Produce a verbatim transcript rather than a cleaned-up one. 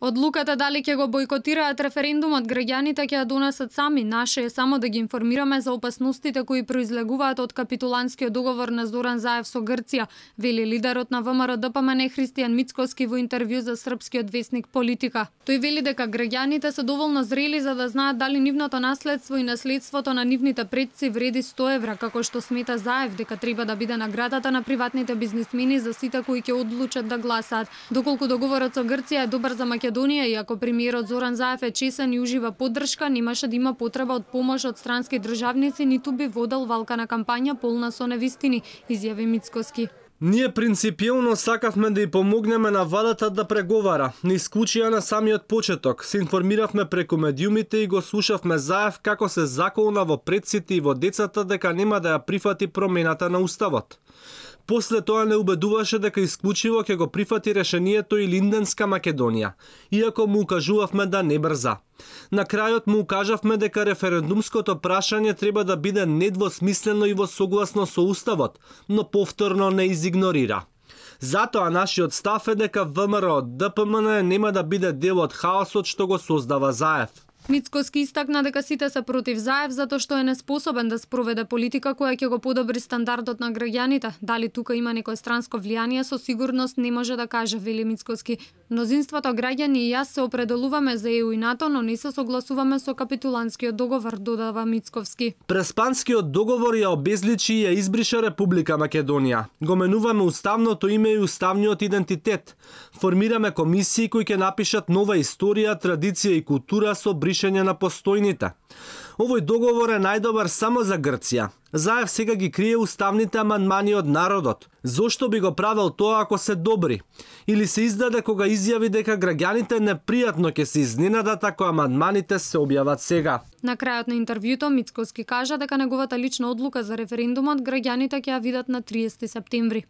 Одлуката дали ќе го бойкотираат референдумот граѓаните ќе ја донесат сами. Наше е само да ги информираме за опасностите кои произлегуваат од капитулантскиот договор на Зоран Заев со Грција, вели лидерот на ВМРО-ДПМН Христијан Мицкоски во интервју за српскиот весник Политика. Тој вели дека граѓаните се доволно зрели за да знаат дали нивното наследство и наследството на нивните предци вреди сто евра, како што смета Заев дека треба да биде наградата на приватните бизнисмени за сите кои ќе одлучат да гласаат. Доколку договорот со Грција е добар за Македонија и ако премиерот Зоран Заев е чесен и ужива поддршка, немаше да има потреба од помош од странски државници, ниту би водел валкана кампања полна со невистини, изјави Мицкоски. Ние принципиелно сакавме да ја помогнеме на владата да преговара. Не исклучија на самиот почеток. Се информиравме преку медиумите и го слушавме Заев како се заколна во предците и во децата дека нема да ја прифати промената на уставот. После тоа не убедуваше дека исклучиво ќе го прифати решението и Линденска Македонија, иако му укажувавме да не брза. На крајот му укажавме дека референдумското прашање треба да биде недвосмислено и во согласно со уставот, но повторно не изигнорира. Затоа нашиот став е дека ВМРО-ДПМН нема да биде дел од хаосот што го создава Заев. Мицкоски истакна дека сите се против Заев затоа што е неспособен да спроведе политика која ќе го подобри стандардот на граѓаните. Дали тука има некое странско влијание, со сигурност не може да каже, вели Мицкоски. Мнозинството граѓани и јас се определуваме за Е У и НАТО, но не се согласуваме со капитулантскиот договор, додава Мицковски. Преспанскиот договор ја обезличи и ја избриша Република Македонија. Го менуваме уставното име и уставниот идентитет. Формираме комисии кои ќе напишат нова историја, традиција и култура со бришење на постојните. Овој договор е најдобар само за Грција. Заев сега ги крие уставните амандмани од народот. Зошто би го правел тоа ако се добри? Или се издаде кога изјави дека граѓаните непријатно ќе се изненадат ако амандманите се објават сега. На крајот на интервјуто Мицкоски кажа дека неговата лична одлука за референдумот граѓаните ќе ја видат на триесети септември.